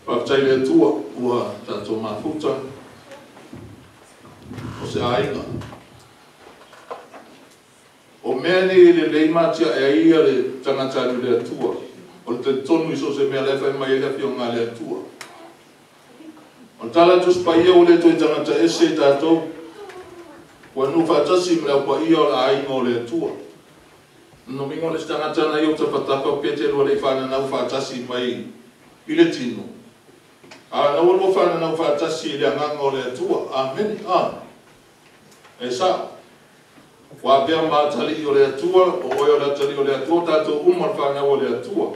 Faafetai i le Atua ua tatou mafuta o se aiga. O mea nei e lelei ma atiae ai le tagata alu i le Atua, o le talitonu i so o se mea la e fai mai ai le Afioga a le Atua. O le tala a le Tusi Paia ua le toe tagata ese tatou, ua nuu faatasi ma le Au Paia o le aiga o le Atua. Lona uiga o le isi tagata na i ou tafatafa pe te lua le i fananau faatasi mai i le tino, a na ua lua fananau faatasi i le agaga o le Atua. Amene. E sao. Ua avea ma atalii o le Atua, o oe o le atalii o le Atua, tatou uma le fanau o le Atua.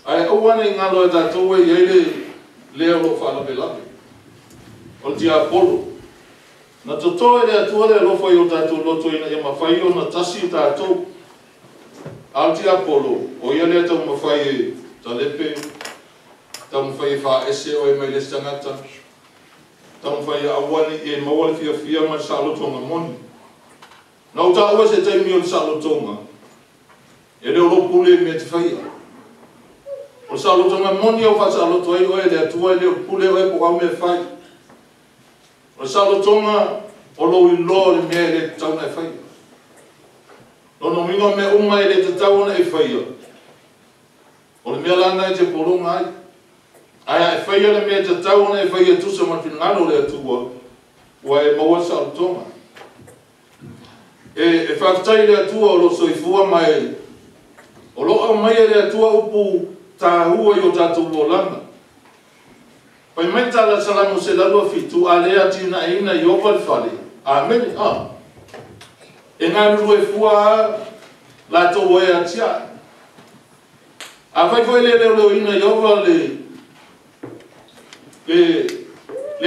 Ae aua ne i galo e tatou e i ai le lea o lo o faalavelave, o le tiapolo. Na toto e le Atua le alofa i o tatou loto ina ia mafai ona tasi tatou. A o le tiapolo, o ia lea taumafai e talepe, taumafai e faaese oe mai le isi tagata, taumafai e aua ne i e maua le fiafia ma le saolotoga moni. Na ou taua se taimi o le saolotoga, e le o lou pule i mea e te faia. O le saolotoga moni au faasaoloto ai oe e le Atua, e le o pule oe po o au mea fai. O le saolotoga o lou iloa o le mea e le tatau ona e faia. Lona uiga o mea uma e le tatau ona e faia, o le mea lana e te pologa ai. Ae a e faia le mea e tatau ona e faia e tusa ma le finagalo o le Atua, ua e maua le saolotoga. E faafetai i le Atua o lo o soifua ma e o lo o aumaia e le Atua upu taua i o tatou olaga. Fai mai tala Salamo 107, a le atinaeina Ieova le fale. Amene. E galulue fua latou e atiae. A fai foi le leoleoina Ieova le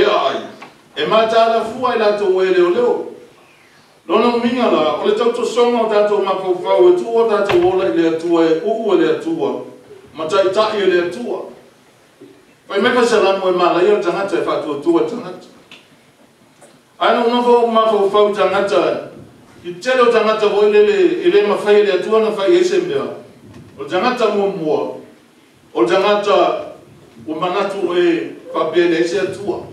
aai, e mataala fua i latou e leoleo. Lona uiga la, o le tautosoga o tatou mafaufau e tuu o tatou ola i le Atua, e uu e le Atua, ma taitai e le Atua. Fai mai Salamo e malaia le tagata e faatuatua le tagata. Ae na nofo mafaufau tagata, i tele o tagata foi lele e le mafai e le Atua na fai ai se mea. O le tagata muamua, o le tagata ua manatu e faapea leai se Atua.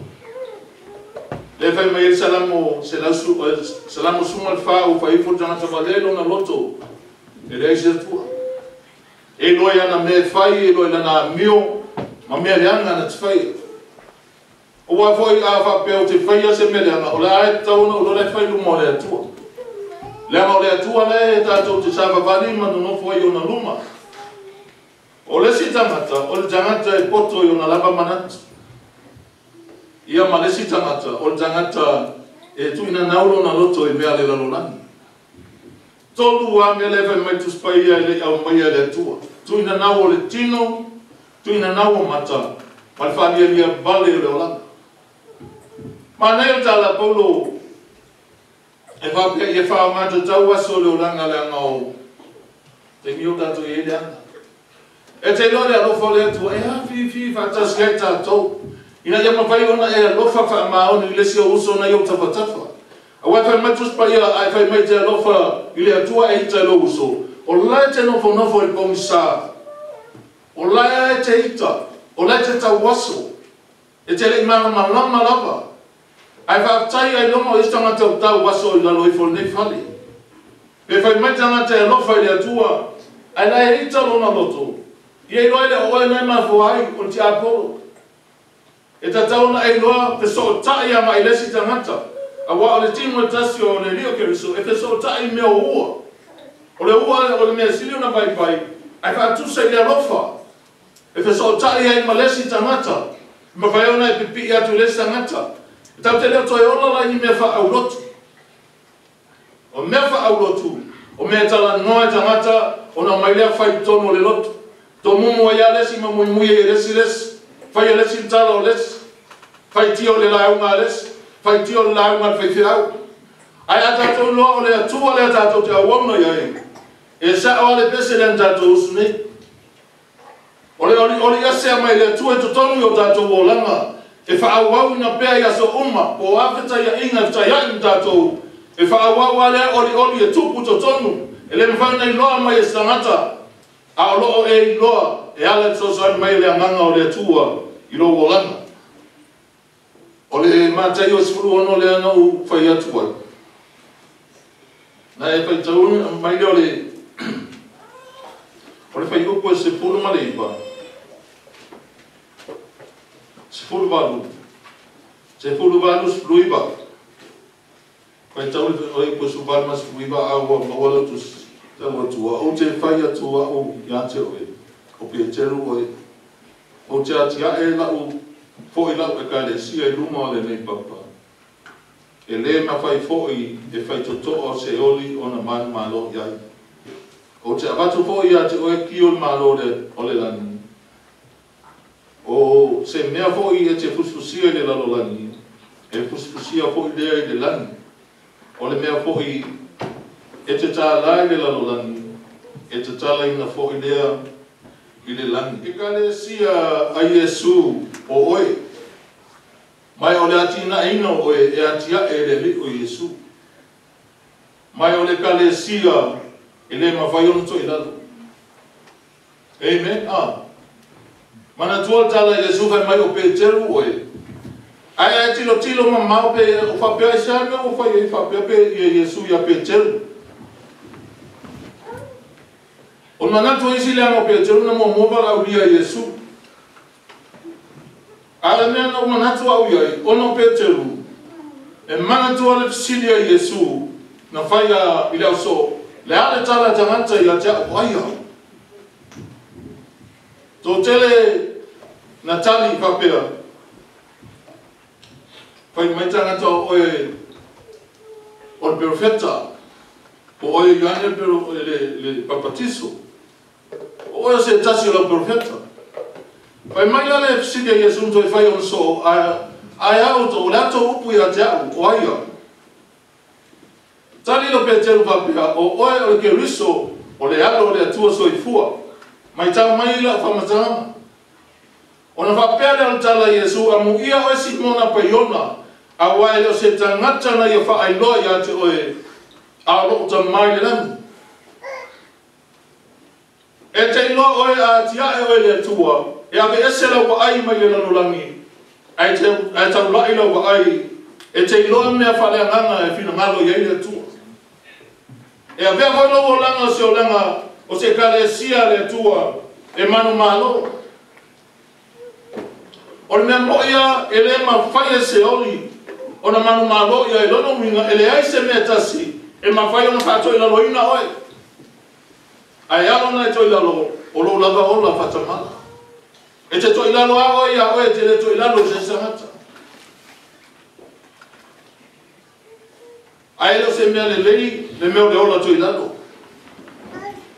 Le fai mai Salamo Salamo 14 ua fai ifo le tagata valea lona loto e leai se Atua. E iloa i ana mea e fai, e iloa i lana amio, ma mea leaga na te faia. Ua foi a faapea o te faia se mea leaga, o le a e tatau ona o lola e fai luma o le Atua. Leaga o le Atua lea e tatou te savavali ma nonofo ai ona luma. O le isi tagata, o le tagata e poto i ona lava manatu. Ia ma le isi tagata, o le tagata e tuuina nau lona loto i mea le lalolagi. Tolu a mea le fai mai Tusi Paia e le i aumaia e le Atua. Tuuina nau o le tino, tuuina nau o mata, ma le faalialia vale o le olaga. Manaia le tala Paulo e faapea ia faaaogatatau aso o le olaga leaga o taimi o tatou i ai leaga. E te iloa le alofa o le Atua e afifi faatasi ai tatou, ina ia mafai ona e alofa faamaoni i le isi o uso na i ou tafatafa. Aua e fai mai Tusi Paia, a e fai mai te alofa i le Atua e ita i lou uso, o la e te nofonofo i le pogisa, o la e te ita, o la e te tauaso, e te le i malamalama lava. Ae faafetai ai loga o isi tagata o tauaso i lalo ifo o lenei fale. Pe fai mai tagata e alofa i le Atua, ae la e ita lona loto, ia iloa e le o oe na e mafua ai o le tiapolo. E tatau ona e iloa fesootai agai i le isi tagata, aua o le tino e tasi o le Alii o Keriso e fesootai i mea o ua. O le ua o le mea sili ona vaivai, ae faatusa i le alofa. E fesootai ai ma le isi tagata, e mafai ona e pipii atu i le isi tagata. E tatou te le o toe ola la i ni mea faaulotu. O mea faaulotu, o mea e talanoa e tagata, ona mai lea fai totonu o le lotu. Tomumu ai a le isi ma muimui ai e le isi le isi. Fai e le isi le tala o le isi. Fai tia o le lauga a le isi. Fai tia o le lauga a le faifeau. Ae a tatou iloa o le Atua lea tatou te auauna i ai, e sao a le pese lea na tatou usu nei. O le olioli ese mai le Atua i totonu i o tatou olaga, e faaauauina pea i aso uma, po o a fetaiaiga e fetaiai ma tatou, e faaauau a lea olioli e tupu totonu, e le mafai ona iloa mai e se tagata, a o loo e iloa e ala i fesoasoani mai le agaga o le Atua i lou olaga. O le Mataio 16 lea na ou fai atu ai. Na e faitau mai lea o le fuaiupu e 19, 18, 18, 19. Faitau le fuaiupu e 18 ma 19 a ua maua lau tusi. Tau atua, ou te fai atu au ia te oe, o Peteru oe, ou te atiae lau foi lau ekalesia i luma o lenei papa. E le mafai foi e faitotoa o Seoli ona manumalo i ai. Ou te avatu foi ia te oe ki o le malo o le lagi. O se mea foi e te fusifusia i le lalolagi, e fusifusia foi lea i le lagi. O le mea foi e te tālā i le lalolagi, e tatalaina foi lea i le lagi. Ekalesia a Iesu o oe, mai o le atinaeina o oe e atiae e le Alii o Iesu. Mai o le ekalesia e le mafai ona to'i lalo. Amen. Ah. Manatua le tala Iesu fai mai o Peteru oe. Ai ai tilo tilo mamao pe o faapea i se a mea ua fai ai faapea pe ia Iesu ia Peteru. O le manatu isi leaga o Peteru na muamua valaaulia Iesu. A le mea na ou manatu au i ai, ona o Peteru, e manatua le fesili a Iesu na faia i le ausoo, le a le tala a tagata ia te au o ai au? Toatele na tali faapea, fai mai tagata o oe o le perofeta, po o oe o Ioane le Papatiso, o oe o se tasi o lau perofeta. Fai mai la le fesili a Iesu na toe fai ona soo, ae a outou, o le a tou upu ia te au, o ai au? Tali lo Peteru faapea, o oe o le Keriso, o le alo o le Atua soifua. Maitau mai lau faamatalaga. Ona faapea lea o le tala a Iesu, amuia oe Simona Paiona, auā e le o se tagata na ia faailoa ia te oe, a o lou Tama i le lagi. E te iloa oe a atiae oe le Atua, e aveese lau vaai mai le lalolagi, ae taulai lau vaai, e te iloa mea faaleagaga e finagalo i ai le Atua. E avea foi lou olaga o se olaga o se ekalesia a le Atua e manumalo. O le mea mo'i lava e le mafai e Seoli ona manumalo i ai, lona uiga e leai se mea tasi e mafai ona faatoilaloina oe. Ae ala ona e toilalo o lou lava ola faatamala. E te toilalo lava oe ia oe, e te le toilalo i se isi tagata. Ae le o se mea lelei le mea o le ola toilalo.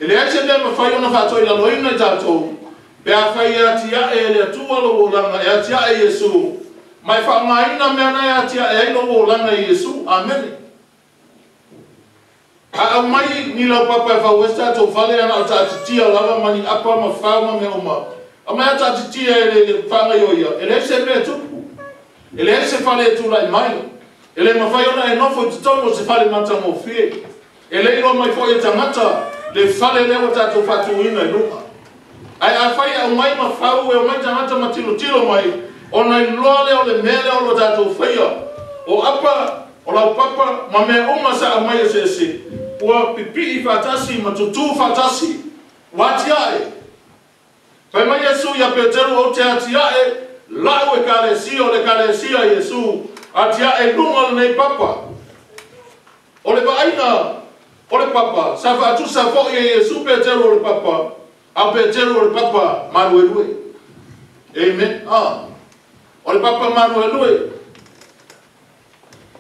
E leai se mea e mafai ona faatoilaloina i tatou pe afai e atiae e le Atua lou olaga, e atiae Iesu, ma e faaaogaina mea na e atiae ai lou olaga i Iesu. Amene. A aumai ni laupapa e fau ai se tatou fale, ana o taatitia lava ma ni apa ma fao ma mea uma, aumai a taatitia e le faagaioia, e leai se mea e tupu. E leai se fale e tulai mai. E le mafai ona e nofo i totonu o se fale matagofie. E le iloa mai foi e tagata le fale lea ua tatou faatuina i luga. Ae afai e aumai ma fau, e omai tagata ma tilotilo mai, ona iloa lea o le mea lea o lo tatou faia. O apa, o laupapa ma mea uma sa aumai eseese, ua pipii faatasi ma tutū faatasi, ua atiae. Fai mai Iesu ia Peteru, Ou te atiae lau ekalesia, o le ekalesia a Iesu, atiae i luga o lenei papa. O le vaaiga o le papa, sa faatusa foi e Iesu Peteru o le papa, a o Peteru o le papa maluelue. Amen. Ah. O le papa maluelue.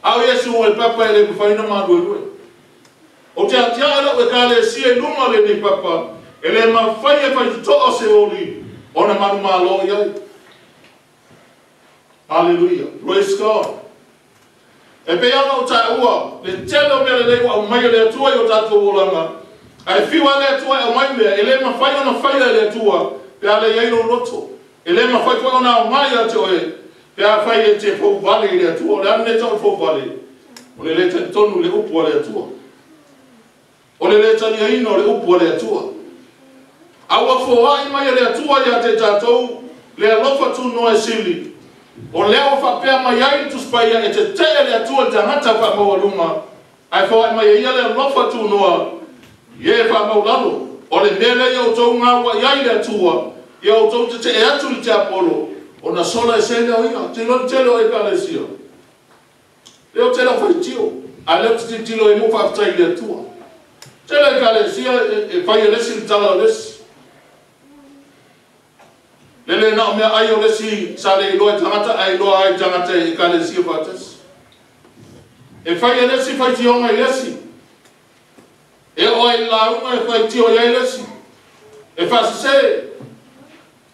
A o Iesu o le papa e le mafai ona maluelue. Ou te atiae lau ekalesia i luga o lenei papa, e le mafai e faitotoa o Seoli ona manumalo i ai. Haleluia. Praise God. E pei ona ou taua, le tele o mea lelei ua aumai e le Atua i o tatou olaga, ae fiu lava le Atua e aumai mea, e le mafai ona faia e le Atua pe a le i ai lou loto. E le mafai foi ona aoga ia te oe pe afai e te fouvale i le Atua. O le a le mea e tau o le fouvale? O le le talitonu i le upu a le Atua. O le le taliaina o le upu a le Atua. A ua foai mai e le Atua ia te tatou Le alofa tunoa e sili. O lea o whapea mai ai le tuspaia e te tee le atua le tangata whaamaualuga. Ai whaai mai ia le alofa tunoa ye whaamaulalo. O le mea lea o tou ngā wa iai le atua. Ia o tou te te e atu le te apolo. O na sola e se leo ia. Te leo te leo e kalesia. Leo te leo whaitio. A leo te titilo e mo whaaftai le atua. Te leo e kalesia e whai e lesi le tala o lesi. Lele na o mea ai o lesi sa le iloa e tangata ai iloa ai tangata e kalesia whaatasi. E whai e lesi whaitionga i lesi. E o ai launga e whaitio i ai lesi. E whaasese.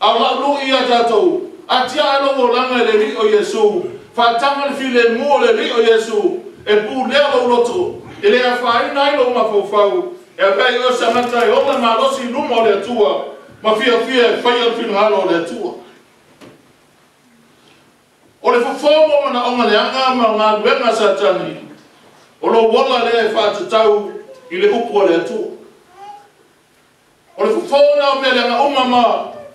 Au lau lu ia tātou. Atia e lo langa le li o Yesu. Whaatanga le file mua le li o Yesu. E pū lea lo loto. E lea whaina ai lo mafaufau. E awai o samata e ola malosi luma o le atua. Ma fia fia e whaia whingalo o le atua. O le fofo mana onga le anga ma ngā luenga satani. O lo wala le e whaatatau i le upu o le atua. O le fofo na o mea le anga uma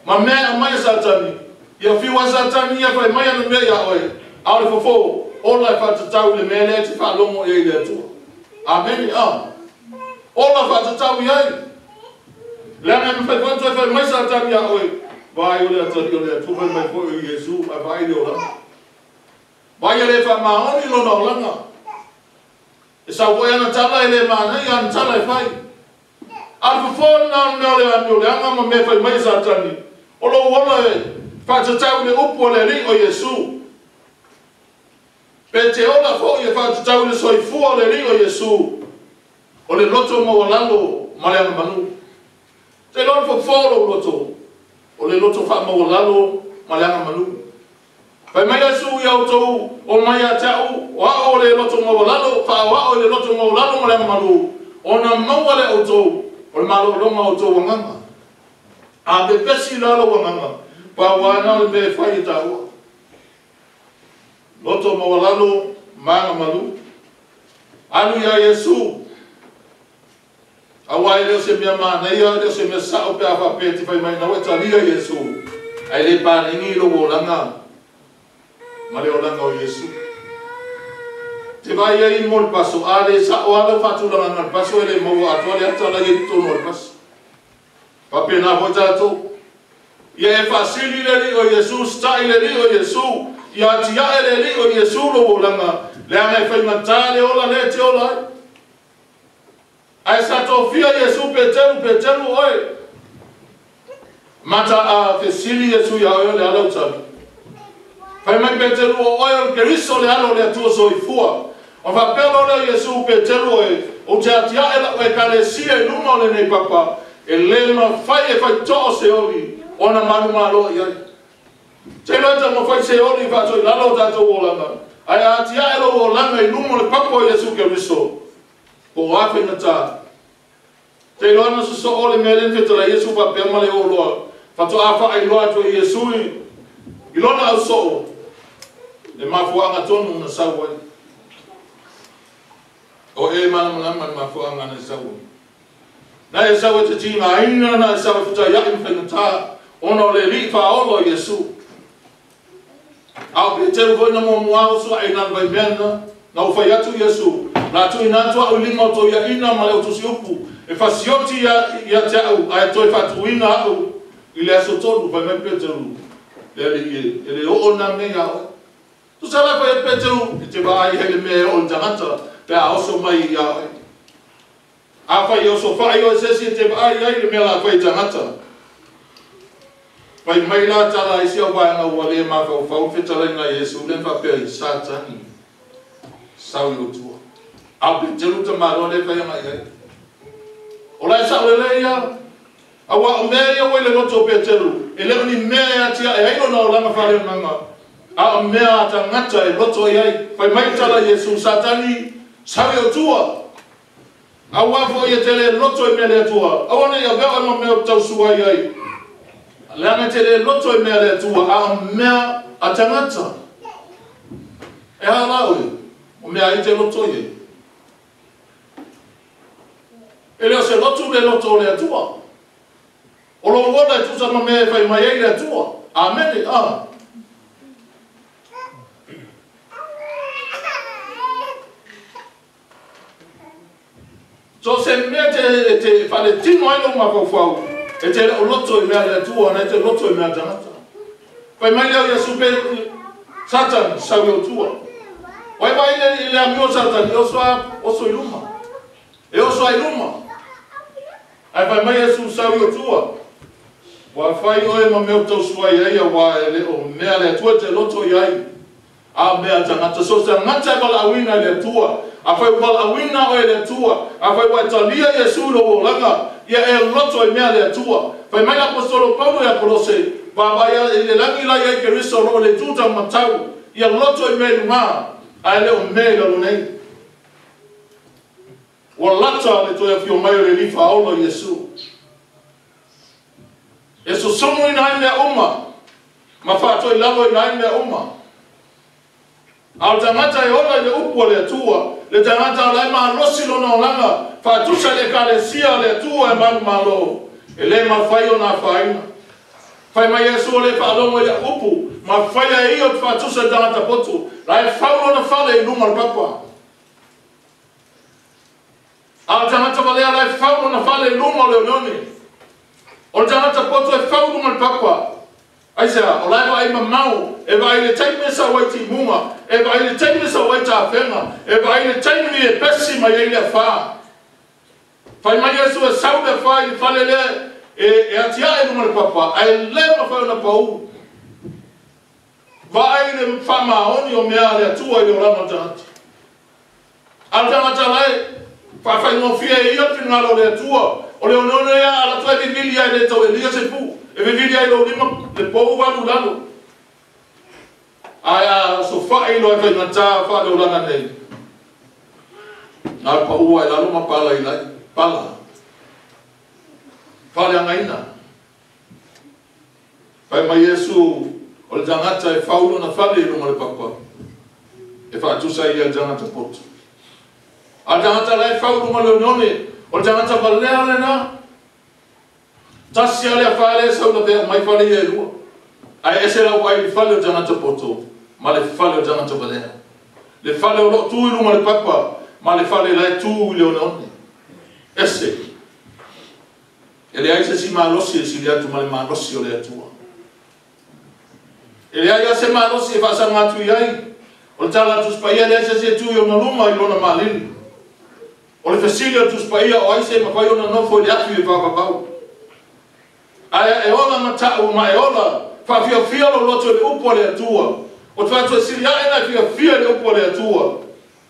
ma mea a mai satani. Ia fiwa satani ia whai mai ana mea ia oe. A o le fofo, ola e whaatatau le mea le te whaalongo i le atua. Ameni a. Ola whaatatau i ai. Le anga me whai whai mai satani ia oe. Vai o le atari o le atua whai mai fo i Yesu a vai le olanga. Vai le wha maoni lona olanga. E sau koe ana tala e le mānei ana tala e whai. A le fofo na mea o le ame o le anga ma mea whai mai satani. O lo ola e whaatatau le upu o le ri o Yesu. Pe te ola fo i e whaatatau le soifua o le ri o Yesu. O le loto mawalalo ma le anga manu. Te lona fofo lo loto. O le loto wha mawalalo ma le anga manu. Whai mai asu i au tau o mai a te au, o ao le loto mawalalo, wha o ao le loto mawalalo ma le anga manu. O na maua le au tau, o le malo longa o tau wanganga. A pe pesi lalo wanganga, pa wana le me whai e tāua. Loto mawalalo, maanga malu. Alu ia Yesu. Awa e leo se mea māneia, leo se mea sao pe a whapea te whai mai nau e talia Yesu. Ai le pāningi lo olanga. Ma le olanga o Yesu. Te vai ai mo le paso, a le sao ala whatulanga ngā paso e le maua atua le atala i tono le paso. Pape nā fo tātou. Ia e whasili le li o Yesu, stai le li o Yesu, ia atia e le li o Yesu lo olanga, le anga e whaingatā le ola le te ola ai. Ai sa tofia Yesu petelu petelu oe. Mata a fesili Yesu ia oe le ala utali. Whai mai petelu o oe o Keriso le ala o le atua soifua. O whapelo le Yesu petelu oe, o te atia e la oe kalesia i luma o le nei papa, e le ma whai e whai too se oli, o na manu malo i ai. Te loe ta mo whai se oli whato i lalo o tātou olanga. Ai atia e lo olanga i luma o le papa o Yesu Keriso. Ko o awhenata. Te loa na soso o le mea le whetara Yesu whapea ma le o loa. Whato a wha ai loa atu i Yesu i lona au soo. Le mafuanga tonu na sau ai. O e mana mana mana mafuanga na sau ai. Na e sau e te tina aina, na e sau e whita ia i whenata. Ona o le li whaolo Yesu. Au pe teru koe na mua mua osu ai nana vai mea na. Na u whai atu Yesu. La tu ina tua au lima o ia ina ma le o tusi upu. E whasioti ia te au, ai toi whatuina au. I le aso tonu, whai mai Peteru. Le ali e le o na mea ia oe. Tu sala whai Peteru, i te vaai hele mea o le tangata, pe a oso mai ia oe. A whai oso whai o e sesi e te vaai ai le mea la whai tangata. Whai mai la tala isi au waenga ua le mawhau whetalaina Yesu, le whapea i Satani. Sau i o tua. A Peteru ta maro le whai anga i ai. O lai sa o le ia, awa o mea ia wei le loto o Peteru, e leo ni mea e atia e ailo na o langa whare o nganga. A o mea a tangata e loto i ai, whai mai tala Yesu, Satani, sau i o tua. Awa fo ia te le loto i mea le atua. Awa nei a veo e ma mea o tausua i ai. Leanga te le loto i mea le atua, a o mea a tangata. E ha la oe, o mea i te loto i ai. E leo se lotu le loto o le atua. O lo wala e tusa ma mea e whai mai ai le atua. Amene a. So se mea te whaletino ai lo mafaufau, e te leo loto i mea le Atua, na e te loto i mea tangata. Fai mai leo Iesu pe Satan sau i o tua. Wai vai le amio Satan, e oso i luma. E oso ai luma. Ai fai mai Iesu sau i o tua. Wa fai oe ma meo tausuai ai a wa e le o mea le Atua te loto i ai. A mea tangata, so se ngata e wala awina le Atua. A fai wala awina oe le Atua. A fai waitalia Iesu lo olanga. Ia e loto i mea le Atua. Fai mai l'apostolo Paulo ia Kolose. Vavaia i le langi lai ai Keriso ro le tuta matau. Ia loto i mea lunga. A le o mea lalo nei. Ua lata le toe afio mai o le lifa aola Iesu. E sosomo i nai mea uma. Ma whaatoi lalo i nai mea uma. A o tangata e ola i le upu a le Atua, le tangata o lai malosi lona olanga, whaatusa le ekalesia le Atua e malu malo, e le mawhai o nā whaina. Whai mai Iesu o le whaalongo i le upu, ma whai a ia o te whaatusa tangata poto, la e whau lona fale i luma le papa. A o tangata walea la e whau lona fale i luma o le oneone. O le tangata poto e whau luma le papa. Aisea, o lai vai mamau, e vai le taimi sa wai timunga, e vai le taimi sa wai tāwhenga, e vai le taimi e pesi mai ei le wha. Whai mai Iesu e sau le wha i le whale le, e atia e lunga le papa, a e le mawhai ona pau. Vai le whamaoni o mea le Atua i le orama tangata. A le tangata lai, whawhai ngofia e ia whingalo le Atua, o le oneone ia ala tua e vivili ai le tau e lia se pu. E vivili ai lo lima le pou walu lalo. Ai a so whai lo e whai ngata wha le olanga nei. Ngā pa ua e lalo ma pala i lai. Pala. Whale angaina. Whai mai Iesu o le tangata e whaulo na whale i lunga le papa. E whaatusa i le tangata poto. A le tangata lai whaulo ma le oneone. O le tangata walea le na. Tasi ale a whale sau na pea mai whale ia e lua. Ai ese lau ai le whale o tangata poto, ma le whale o tangata walea. Le whale o lo tū i lunga le papa, ma le whale lai tū i le oneone. Ese. E le ai se si malosi e sili atu ma le malosi o le Atua. E le ai a se malosi e whaasanga atu i ai. O le tala atu spaia le ai se se tū i ona luma i lona malili. O le fesili atu spaia o ai se mawhai ona nofo i le afi e whawawau. Aia e ola matau ma e ola whawhiawhia lo loto le upu a le Atua. O te whātua sili ae na whiawhia le upu a le Atua.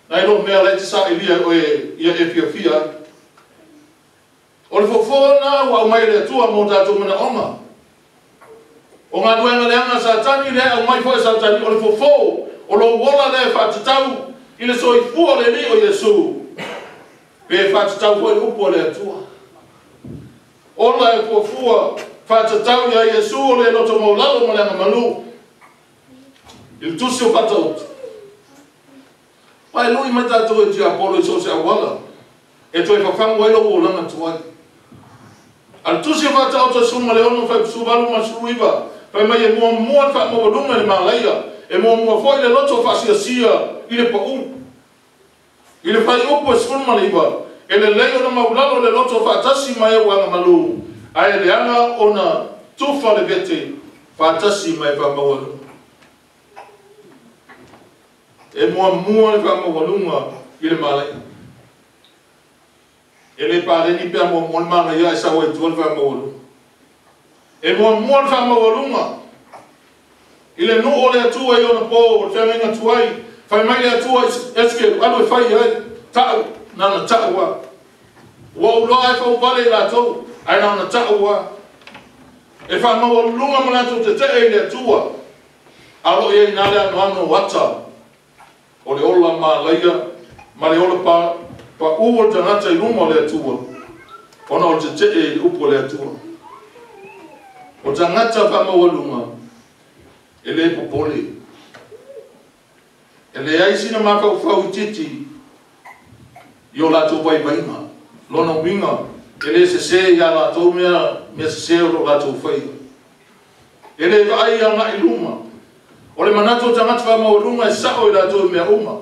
Nai lo mea lai te sa ilia oe ia e whiawhia. O le fofona ua au mai le Atua mō tātou mana onga. O ngā nuenga leanga Satani le au mai foe Satani o le fofo. O lo uola le whātatau i le soifua le li o Iesu. Pe whātatau foe le upu a le Atua. Ola e fuafua whātatau ia Iesu o le loto maulalo ma le anga manu. I le tusi o whataotu. Pai lui mai tātou e tia polo i so se awala. E toe whawhangu ai lo uolanga tuai. A le tusi o whataotu e suma le ono whai suvalu ma suruiva. Whai mai e mua mua le whaamawalunga le malaia. E mua mua foi le loto whaasiasia i le pau. I le whai upu e suma le iwa. E le lei ona maulalo le loto whaatasi mai e uanga malu. A e le anga ona tufa le vete whaatasi mai e whaamawalunga. E mua mua le whaamawalunga i le malaia. E le pareni pea mua mua le malaia e sawa i tua le whaamawalunga. E mua mua le whaamawalunga. I le nuu o le Atua i ona pō, o le whangainga tuai. Whai mai le Atua eske alu e whai ai. Ta'u. Nana ta'ua. Ua uloa e whauvale i lātou, ai nana ta'ua. E whamawalunga ma lātou te te e le Atua. Alo ia i nā le ano ano ata. O le ola malaia, ma le ola pa ua tangata i luma o le Atua. Ona o te te e i upu o le Atua. O tangata whamawalunga, e le popole. E le ai sina makau i titi, i o lātou vaivainga, lona uinga, e le se se i a lātou mea se se o lo lātou whaia. E le vaai agai i luma. O le manatu o tagata faamaualuga e sao i latou i mea uma,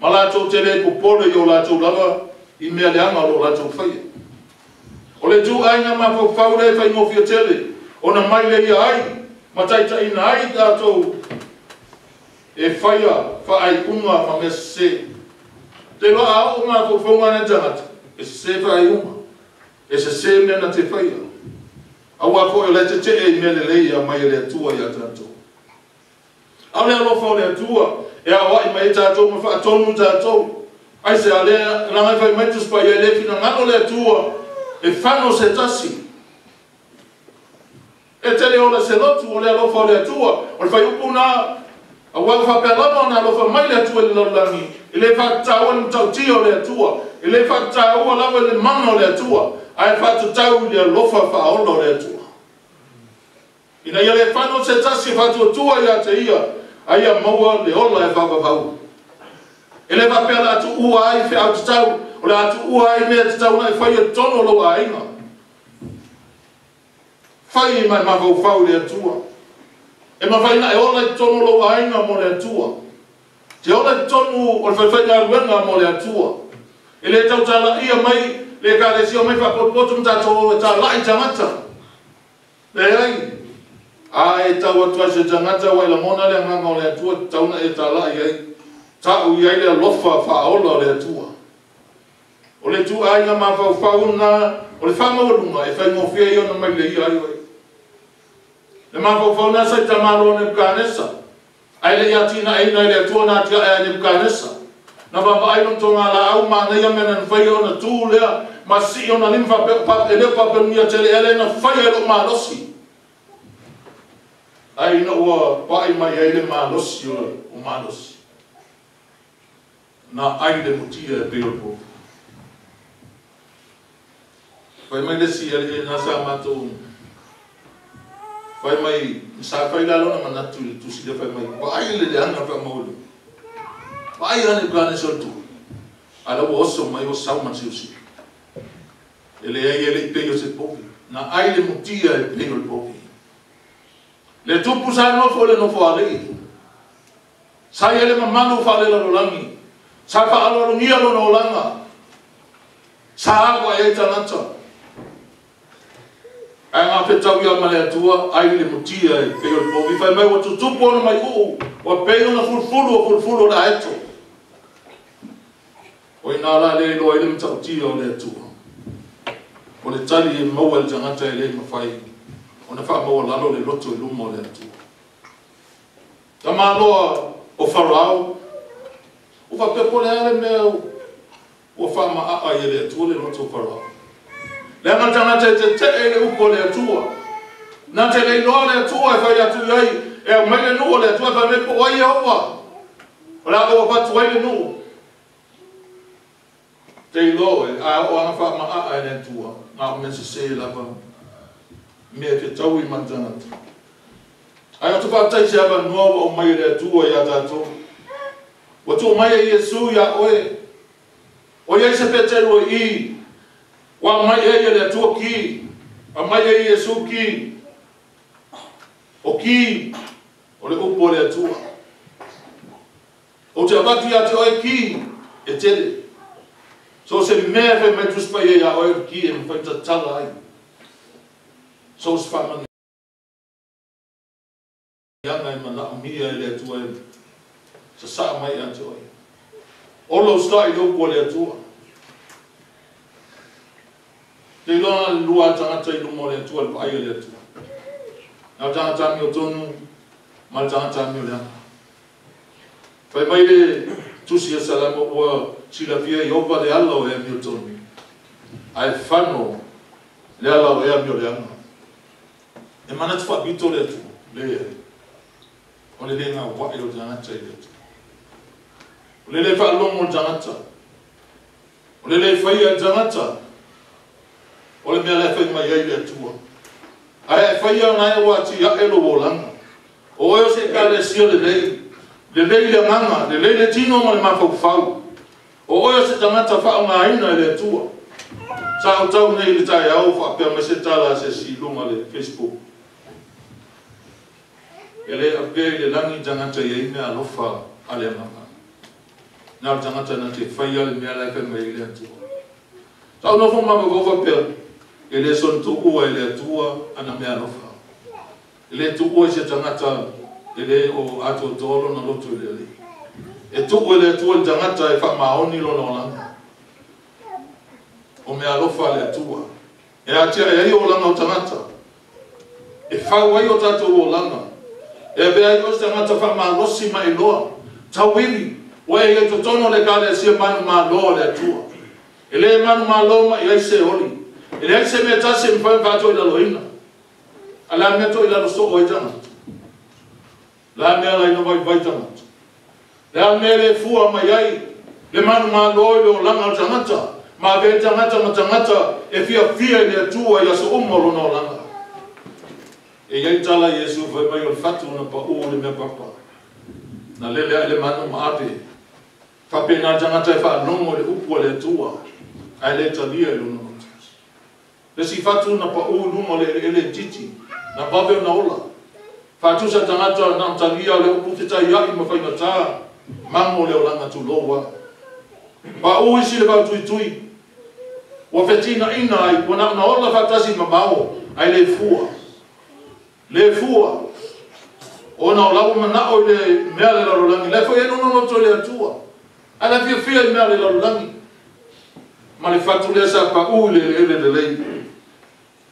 ma latou te le popole i o latou lava i mea leaga o lo o latou faia. O le ituaiga mafaufau lea e faigofie tele ona maileia ai ma taitaiina ai tatou e faia faaiuga ma mea sese. Te iloa a oo mafaufauga nei tagata, e sese faaiuga, e sese mea na te faia. Aua foi o le tetee i mea lelei e aumai e le Atua ia tatou. A o le alofa o le Atua e aoai mai ai tatou ma faatonu tatou. Aisea lea leaga e fai mai le Tusi Paia, e le finagalo le Atua e fano se tasi. E te le ola se lotu o le alofa o le Atua. O le fuaiupu lena, aua ua faapea lava ona alofa mai le Atua i le lalolagi, e le faatatauina le matautia o le Atua, e le faatataua lava i le mana o le Atua, ae faatatau i le alofa faaola o le Atua. Ina ia le fano se tasi e faatuatua ia te ia, a ia maua le ola e faavavau. E le faapea o le a tuua ai feau tatau, o le a tuua ai mea tatau ona e faia i totonu o lou aiga. Fai ma e mafaufau i le Atua. E mafai ona e ola i totonu o lou aiga mo le Atua. Te ola i totonu o le faifaigaluega mo le Atua. E le tautalaia mai le Ekalesia omai faapotopoto ma tatou o e talai tagata. Leai. A e tau atu ai se tagata ua e lagona le agaga o le Atua, tatau ona e talai ai. Tau i ai le alofa faaola o le Atua. O le ituaiga mafaufau lena o le faamaualuga e faigofie ai ona maileia ai oe. Le mafaufau lena sa i tamaloa o Nebukanesa, ae le i atinaeina e le Atua na atiae a Nebukanesa. Na vaavaai lona togalaau manaia mea na faia ona tu lea ma sii ona lima faapea, e le o Papelonia tele ea lea na faia e lou malosi. Ai ina ua pai mai ai le malosi o malosi. Na ai le mutia e pei o le povi. Fai mai le isi alii lena sa matou fai mai, sa fai la lona manatu i le tusi lea, fai mai, vaai le leaga faamaualuga. Vaai ane Nebukanesa o le tupu. A la ua oso mai ua sau ma le siusiu. E leai e le i pei o se povi. Na ai le mutia e pei o le povi. Le tupu sa nofo i le nofoalii. Sa i ai le mamalu faalelalolagi. Sa faaaloalogia lona olaga. Sa alu ai ai tagata. Ae gafetau ia ma le Atua, ai le mutia e pei o le povi. Fai mai ua tutupu ona maiuu, ua pei ona fulufulu o fulufulu o le aeto. O ina la le iloa ai le matautia o le Atua. O le tali e maua e le tagata e le mafai ona faamaualalo le loto i luma o le Atua. Tamaloa o Farao, ua faapea po o le a le mea ua faamaaa ai e le Atua le loto o Farao. Leaga le tagata e tetee i le upu a le Atua. Na te le iloa le Atua e fai atu i ai, e aumai le nuu o le Atua e fai mai po o ai Iehofa. O le a ou avatu ai le nuu. Te iloa oe, a oo lava faamaaa e le Atua, na o mea sese lava, mea e fetaui ma le tagata. Ae ou te faafetai i se avanoa ua aumai e le Atua ia tatou. Ua tuu mai e Iesu ia oe. O i ai se Peteru o i i, ua aumai ai e le Atua ki, aumai e Iesu ki. O ki, o le upu a le Atua. Ou te avatu ia te oe ki e tele. So o se mea e fai mai Tusi Paia ia oe o le ki e mafai tatala ai. So o se faamanuiaga e manaomia e le Atua e sasaa mai ia te oe. Ola usitai i le upu a le Atua. Te iloa na le lua tagata i luma o le Atua, le vaai a le Atua. Na o le tagata amiotonu ma le tagata amioleaga. Fai mai le Tusi a Salamo, ua silafia e Iehofa le ala o e amiotonu, ae fano le ala o e amioleaga. E manatu faapito le Atua, leai, o le le gaua'i o le tagata i le Atua. O le le faalogo o le tagata, o le le faia e le tagata, o le mea la e fai mai ai le Atua. Ae a e faia ona e ua atiae lou olaga. O oe o se Ekalesia lelei, lelei le agaga, lelei le tino ma le mafaufau. O oe o se tagata faaaogaina e le Atua. Sa ou tau nei i le taeao o faapea mai se tala a se isi i luga o le Facebook. E le avea i le lagi tagata e iai meaalofa a le Agaga. Na o le tagata na te faia le mea la e fai mai ai le Atua. Sa ou nofo ma mafaufau faapea, e le soona tuua e le Atua ana meaalofa. E le tuua i se tagata e le o atoatoa lona loto i le Alii. E tuu e le Atua i le tagata e faamaoni lona olaga. O meaalofa a le Atua e atiae ai olaga o tagata, e fau ai o tatou olaga, e avea ai oe o se tagata faamalosi ma e iloa, tauivi, ua e i ai totonu o le Ekalesia manumalo a le Atua. E le manumalo mai ai se oli. E leai se mea e tasi e mafai ona faatoilaloina. A o le a le mea e toilalo soo ai tagata? O le a le mea e ala ai ona vaivai tagata? O le a le mea e le fua mai ai le manumalo i le olaga o le tagata, ma avea ai le tagata ma tagata e fiafia i le Atua i aso uma o lona olaga? E i ai tala a Iesu fai mai o le fatu na pau i le mea papa, na lele ae le manu ma ave. Faapena le tagata e faalogo i le upu a le Atua, ae le talia i lona loto. Le isi fatu na pau i luga o le eleele itiiti, na vave ona ola. Faatusa tagata na o talia o le upu fetaiai ma faigata, mago le olaga tulou a. Pau isi le vautuitui, ua fetinaina ai, ua na ona ola faatasi ma mao, ae le fua. Le fua, ona o la ua manao i le mea a le lalolagi, la e foi ai lona loto i le Atua, ae la e fiafia i mea a le lalolagi. Ma le fatu lea sa pau i le eleele lelei.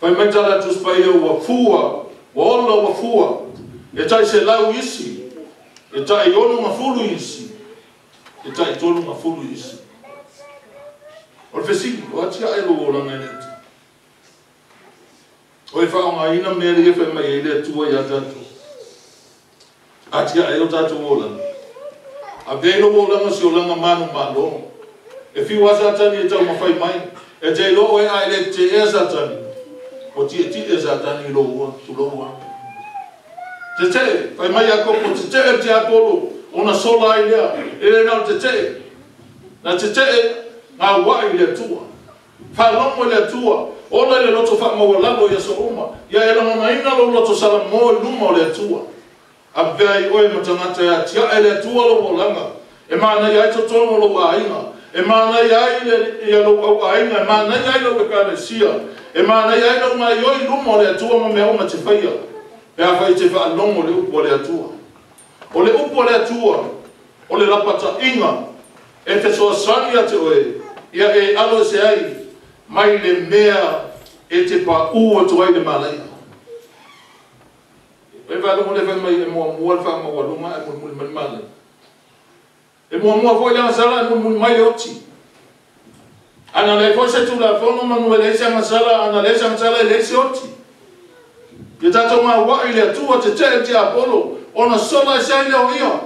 Fai mai tala a Tusi Paia ua fua, ua ola ua fua, e tai 100 isi, e tai 60 isi, e tai 30 isi. O le fesili, o atiae lou olaga i le Atua? O e faaaogaina mea ia e fai mai ai le Atua ia tatou. Atiae ai o tatou olaga. Avea ai lou olaga o se olaga manumalo. E fiu lava Satani e taumafai mai, e te iloa oe a e le tetea Satani, ua tietie Satani i lou ua, tulou a. Tetee, fai mai Iakopo, tetee le tiapolo, ona sola ai lea. E le na o le tetee, na tetee gauai i le Atua. Faalogo i le Atua, ola i le loto faamaualalo i aso uma, ia e lagonaina lou loto salamo i luma o le Atua. Avea ai oe ma tagata e atiae le Atua lou olaga, e manaia ai totonu o lou aiga, e manaia ai ia lou auaiga, e manaia ai lau Ekalesia, e manaia ai lou gaoioi i luma o le Atua ma mea uma e te faia, pe afai e te faalogo i le upu a le Atua. O le upu a le Atua, o le lapataiga e fesoasoani ia te oe, ia e alo ese ai mai le mea e te paū atu ai i le malaia. E faalogo le fai mai e muamua le faamaualuga ae mulimuli mai le malaia. E muamua foi le agasala ae mulimuli mai le oti. Ana leai foi se Tulafono manu e leai se agasala, ana leai se agasala e leai se oti. Ia tatou gauai i le Atua, tetee le tiapolo, ona sola ese ai lea o ia.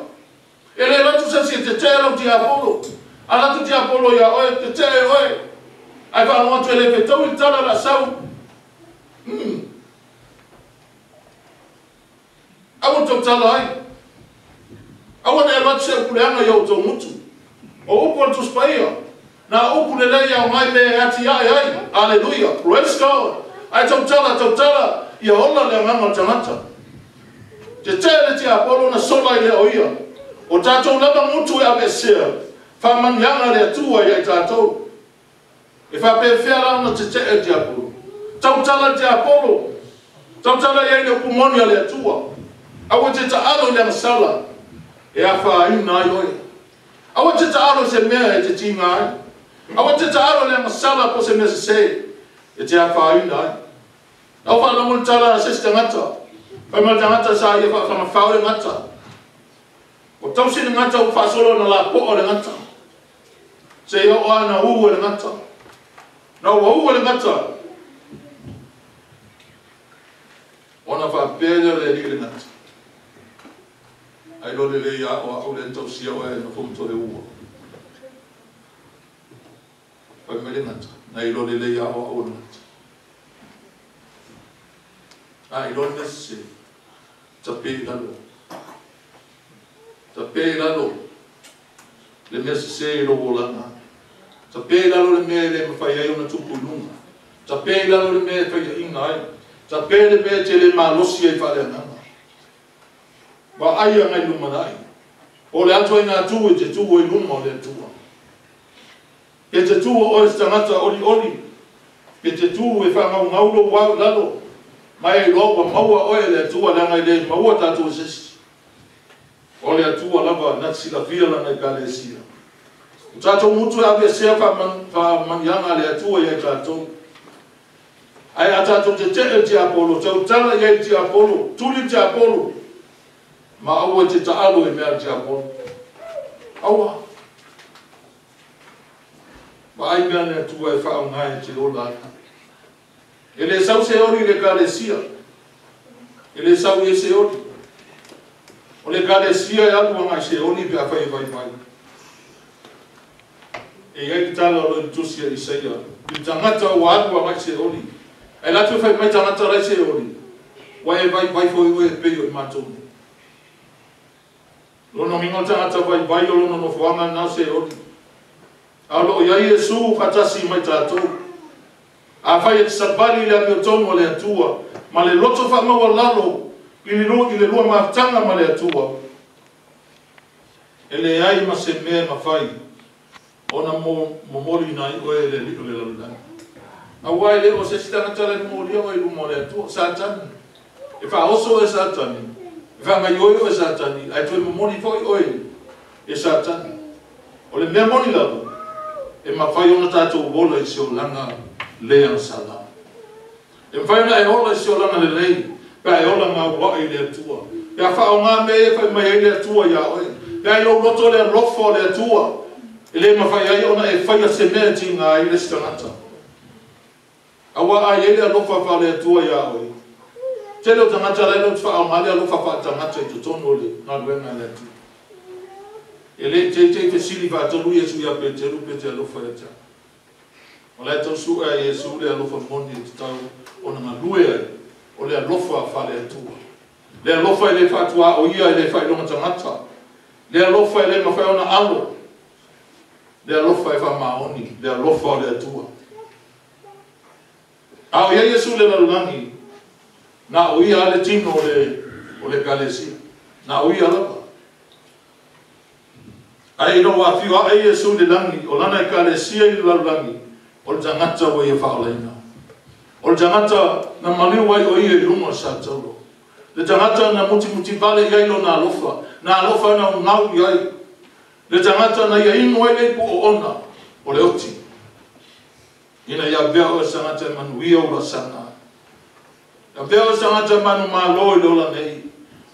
E le alu atu se isi e tetee lau tiapolo. A alu atu tiapolo ia oe, tetee oe. Ae faalogo atu e le fetaui le tala o le a sau. Umm. Aua le tautala ai. Aua ne i alu atu se upu leaga i o outou gutu. O upu a le Tusi Paia, na upu lelei e aoga ai mea e atiae ai. Aleluia! Praise God! Ae tautala, tautala, ia ola le agaga o le tagata. Tetee le tiapolo na sola ai lea o ia. O tatou lava gutu e aveesea, faamanuiaga a le Atua ia i tatou. E faapefea la ona tetee le tiapolo? Tautala le tiapolo! Tautala i ai le upu moni a le Atua. Aua e te taalo i le agasala e afaina ai oe. Aua e te taalo i se mea e te tiga ai. Aua e te taalo i le agasala po o se mea sese e te afaina ai. Na ou faalogo i le tala a se isi tagata, fai mai le tagata sa ia faafagafao le gata. Ua tausi le gata ua faasolo ona lapoa le gata. Seia oo lava ina ū e le gata. Na ua ū e le gata, ona faapea lea o le alii i le gata, Ailoa lelei a o a'u lea na tausia oe ae nofo ma toe ua. Fai mai le gata, Na iloa lelei a o a'u o le gata. A iloa le mea sese, tape i lalo. Tape i lalo le mea sese i lou olaga. Tape i lalo le mea e le mafai ai ona tupu i luga. Tape i lalo le mea e faiaina ai. Tape le mea e te le malosi ai faaleagaga. Vaai agai i le lumanai. Po o le a ituaiga tu e te tu ai i luma o le Atua. Pe te tu o oe o se tagata olioli, pe te tu e faagaugau lou ao i lalo, ma e iloa ua maua oe e le Atua, leaga e le maua tatou e se isi. O le Atua lava na te silafia Lana Ekalesia. O tatou mutu e aveesea faamanuiaga a le Atua ia i tatou. Ae a tatou tetee i le tiapolo, tautala i ai i le tiapolo, tuli le tiapolo, ma aua e te taalo i mea a le tiapolo. Aua. Vaai mea a le Atua e faaaoga e te ola ai. E le sau se oli i le Ekalesia. E le sau i ai se oli. O le Ekalesia e alu agai se oli pe afai e vaivai. E i ai le tala o lo o i le tusi a Isaia, i le tagata ua alu agai se oli. Ae latou fai mai tagata la e se oli, ua e vaivai foi oe e pei o i matou nei. Lona uiga o le tagata vaivai o lona nofoaga lena o Seoli. A o lo o i ai Iesu faatasi ma i tatou. Afai e te savali i le amiotonu a le Atua ma le loto faamaualalo i le lua mafutaga ma le Atua, e leai ma se mea e mafai ona momoliina ai oe e le alii o le lalolagi. Aua e le o se isi tagata la e momolia oe i luma o le Atua, o Satani. E faaoso oe e Satani, e faagaoioi oe e Satani, ae toe momoli foi oe e Satani. O le mea moni lava, e mafai ona tatou ola i se olaga le agasala. E mafai ona e ola i se olaga lelei, pe a e ola gaua'i i le Atua, pe a faaaoga mea ia e fai mai ai le Atua iā oe, pe a i lou loto le alofa o le Atua, e le mafai ai ona e faia se mea e tiga ai le isi tagata. Aua a i ai le alofa faale-Atua iā oe, tele o tagata la e le o te faaaoga le alofa faale-tagata i totonu o le galuega a le Atua. E le i teitei fesili faatolu Iesu ia Peteru pe te alofa ia te au. O la e tau sue a Iesu le alofa moni e tatau ona galue ai, o le alofa faale-Atua. Le alofa e le faatuaoia, e le faailoga tagata. Le alofa e le mafai ona alo. Le alofa e faamaoni, le alofa o le Atua. A o i ai Iesu i le lalolagi, na o Ia lava le tino o le o le Ekalesia. Na o Ia lava. Ae ina ua afio ae Iesu i le lagi, o Lana Ekalesia i le lalolagi, o le tagata ua Ia faaolaina. O le tagata na maliu ai o Ia i luga o le sataulo. Le tagata na mutimutivale i ai Lona alofa, na alofa naunau i ai. Le tagata na ia inu ai le ipu oona o le oti, ina ia avea oe se tagata e manuia ou laasaga. Avea oe se tagata e manumalo i le ola nei.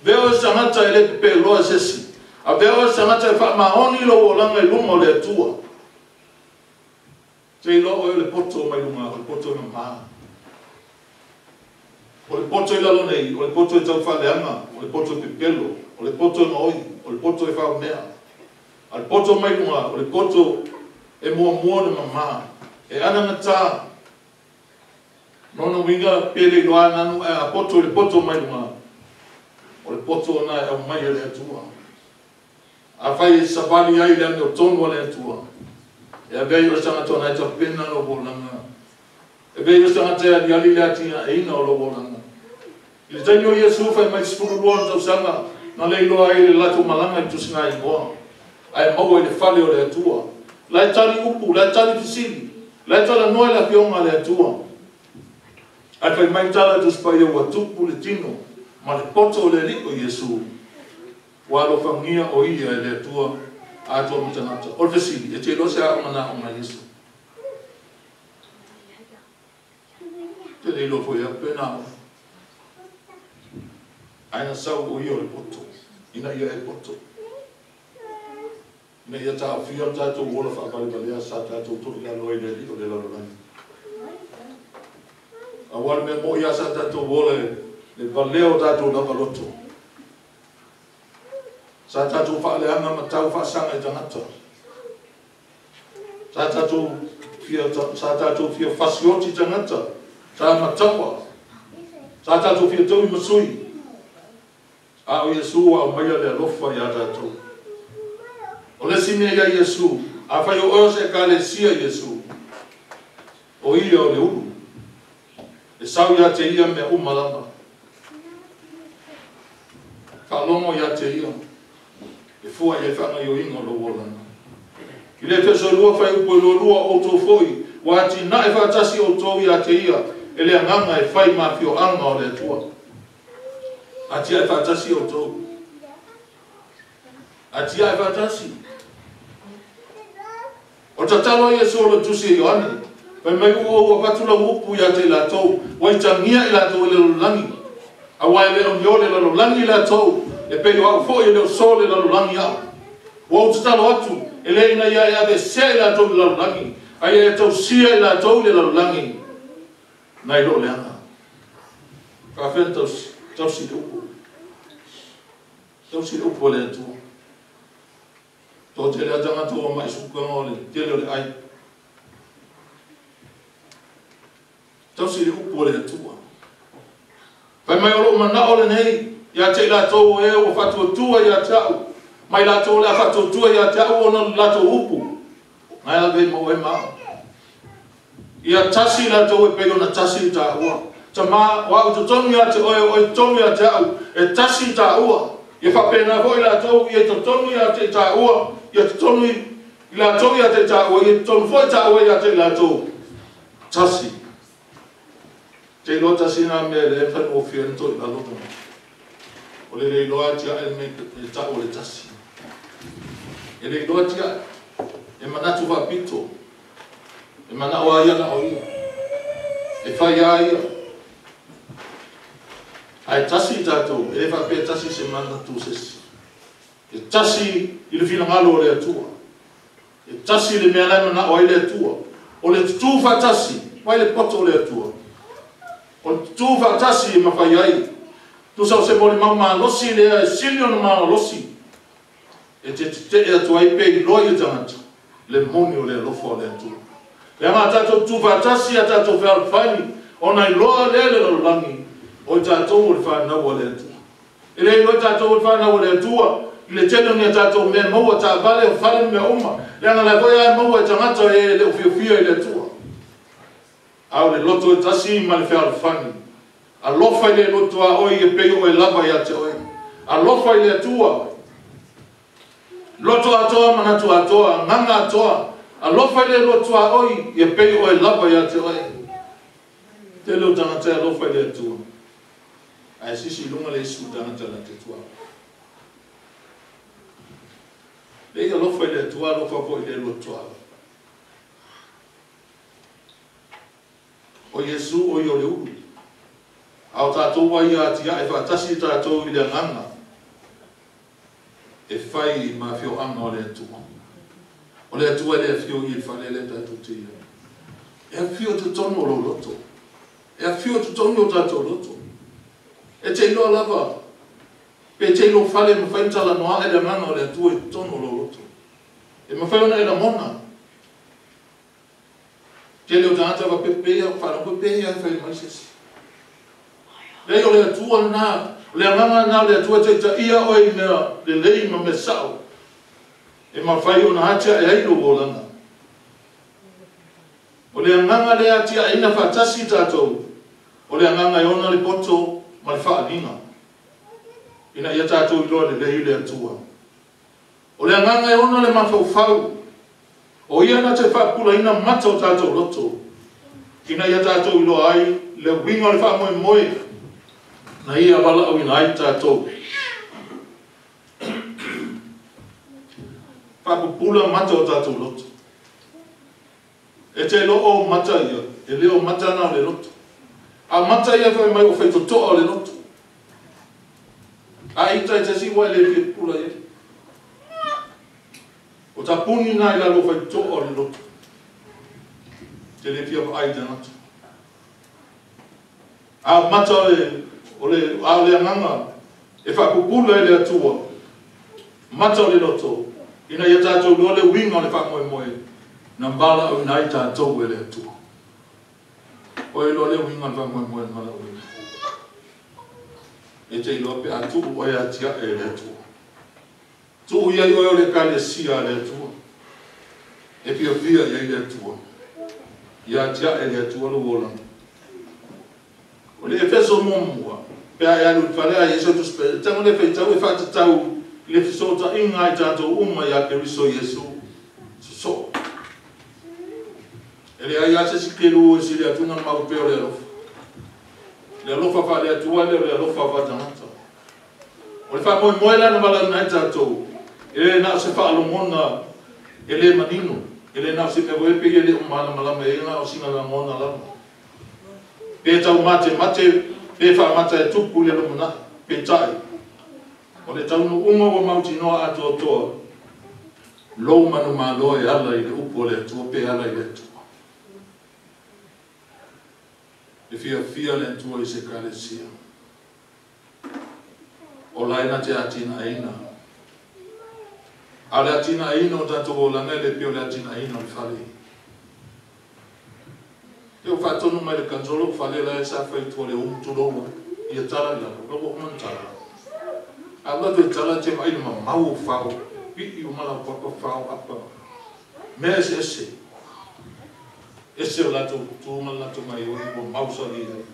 Avea oe se tagata e le pepeloa e se isi. Avea oe se tagata e faamaoni lou olaga i luma o le Atua. Te iloa oe o le poto mai luga, o le poto e mama. O le poto i lalo nei, o le poto e taufaaleaga, o le poto e pepelo, o le poto e gaoi, o le poto e faumea. A o le poto mai luga, o le poto e muamua ona mama, e anagata. Lona uiga, pe le iloa nanu ae a poto i le poto mai luga, o le poto lena e aumai e le Atua. Afai e savali ai i le amiotonu a le Atua, e avea ai oe se tagata ona e tapena lou olaga. E avea ai oe se tagata e aliali le atiaeina o lou olaga. I le taimi o Iesu fai mai 12 ona tausaga, na le iloa ai le latou malaga i le tusiga igoa, ae maua i le fale o le Atua. La e tali upu, la e tali fesili, la e talanoa i le Afioga a le Atua. Ae fai mai tala i Tusi Paia ua tupu le tino ma le poto o le Alii o Iesu, ua alofagia o Ia e le Atua atoa ma tagata. O le fesili, e te iloa se aoga na aoga ai Iesu? Te le iloa foi e au pe na aoga. Ae na sau o Ia o le poto, ina ia e poto. Ina ia taofia le tatou ola faavalevalea sa tatou toilalo ai i le alii o le lalolagi. Aua le mea moi lava sa tatou ola i le valea o tatou lava loto. Sa tatou faaleaga ma tau faasaga i tagata. Sa tatou fia, sa tatou fia fasioti i tagata. Sa mataua. Sa tatou fia taui ma sui. A o Iesu ua aumaia le alofa ia tatou. O le isi mea ia Iesu, afai o oe o se Ekalesia i Iesu, o Ia o le ulu, e sau ia te Ia mea uma lava. Faalogo ia te ia, e fua i ai faagaoioiga o lou olaga. I le Efeso 2 fuaiupu e 22, o outou foi, ua atinae faatasi outou ia te ia, e le agaga e fai ma afioaga o le Atua. Atiae faatasi outou. Atiae faatasi. O tatalo a Iesu o le tusi e Ioane, fai mai ua ou avatu lau upu ia te i latou, ua itagia i latou e le lalolagi, aua e le o ni o le lalolagi i latou, e pei o au foi e le o so le lalolagi au. Ua ou tatalo atu, e le ina ia e aveesea i latou i le lalolagi, a ia e tausia i latou i le lalolagi, nai lo leaga. Faafetai tausi, tausi le upu. Tausi le upu o le Atua. Toatele lava tagata ua mai suka o le tele o le ai. Tausi le upu o le Atua. Fai mai o lou manao lenei, ia te i latou e ua faatuatua ia te au, mai latou o le a faatuatua ia te au ona o latou upu. Ngai la vei mau e ma. Ia tasi latou e pei ona tasi i tāua. Tama, o au totonu ia te oe, o oe totonu ia te au, e tasi i tāua. Ia faapena foi latou, ia totonu ia te i tāua, ia totonu i latou ia te i tāua, ia totonu foi tāua ia te i latou. Tasi. Te iloa tasi nā mea le whanofia ni toi lalo tona. O le iloa tia e me e tau o le tasi. E le iloa tia e manatu whapito. E mana o ia na o ia. E whai a ia. Ai tasi tātou, e le whapea tasi se mana tu sesi. E tasi i le finagalo o le Atua. E tasi le mea lai mana o ai le Atua. O le tutu whatasi, mai le poto o le Atua. O le tutu whatasi e mawhai ai. Tusa o se moli mau malosi lea e sili ona malosi. E te te e atu ai pe i loa i tangata. Le moni o le alofa o le Atua. Le anga tātou tutu whatasi a tātou fealofani. O nai loa lea le lalolagi. O i tātou o le whanau o le Atua. E le iloa tātou o le whanau o le Atua. I le tele o ni a tātou mea maua tā vale o fale mea uma. Le anga lai foi ai maua e tangata e le ufiofia i le Atua. A o le loto e tasi ma le fealofani. Alofa i le loto a oi e pei o e lava ia te oe. Alofa i le Atua. Loto atoa manatu atoa, nganga atoa. Alofa i le loto a oi e pei o e lava ia te oe. Te leo tangata e alofa i le Atua. Ae sisi lunga le isu tangata la te tua. Le alofa i le Atua, alofa foi i le loto a. O Iesu o i o le ulu. A o tātou ai atia e whaatasi tātou i le anganga. E whai i mawhio anga o le Atua. O le Atua le awhio i e whale le tātou te ia. E awhio te tonu o loto. E awhio te tonu o tātou loto. E te iloa lava. Pe te iloa whale mawhai tala noa e le anganga o le Atua i tonu o loto. E mawhai ona e la mona. Te leo tāngata wa pepea, whanau pepea e whai mai sesi. Lei o le Atua nā, o le anganga nā o le Atua te ta ia oe mea le lei ma me sao. E mawhai ona hatia e ailo o lana. O le anganga le atia e ina whatasi tātou. O le anganga e ona le poto ma le whaalinga. Ina ia tātou i loa le lei le Atua. O le anganga e ona le mawhaufau. O ia na te whapula ina mata o tātou loto. Ina ia tātou i loa ai le winga o le whaamoe moe. Na ia wala au ina ai tātou. Whapupula mata o tātou loto. E te lo o mata ia, e leo mata na o le loto. A mata ia whai mai o whaitotoa o le loto. A ita e te siwa e le whipula ia. O ta puni nā i lalo whaitotoa o le loto. Te le fia ai tangata. A mata o le a o le anganga e whakupula e le Atua. Mata o le loto. Ina ia tātou loa le winga o le whakamoemoe. Na mbala au nai tātou e le Atua. O e loa le winga o le whakamoemoe na mbala au ina. E te iloa pe atu o e atia e le Atua. Tuu iai oe o le kalesia le Atua. E fia fia iai le Atua. Ia atia e le Atua lo olanga. O le Efeso muamua. Pe a e alu i le fale a i ai sau Tusi Paia, e tago lea e faitau e faatatau i le fesootaiga a i tatou uma ia Keriso Iesu. Sosoo. E leai lava se isi kelu e sili atu ona mau pea o le alofa. Le alofa faale-Atua e le o le alofa faatagata. O le faamoemoe la na valaauina ai tatou, e le na o se faalogona e le manino, e le na o se mea foi e pei e le o malamalama i ai na o sina lagona lava. Pe taumatemate, pe faamata e tupu i le lumanai, peitai, o le taunuuga ua mautinoa atoatoa, lou manumalo e ala i le upu a le Atua pe ala i le Atua. E fiafia le Atua i se Ekalesia. O la e na te atinaeina. A o le atinaeina o tatou olaga e le pei o le atinaeina o le fale. E ua faatonu mai le kanjo lou fale la e sa fai i tua i le umu tulou ai. Ia tala i lalo, la ua uma ona tala. A ou alu atu e tala, e te vaai i le mamao o fao, pii uma laupapa, fao, apa, mea eseese. Ese o latou tu ma le latou gaoioi ua mausali ai.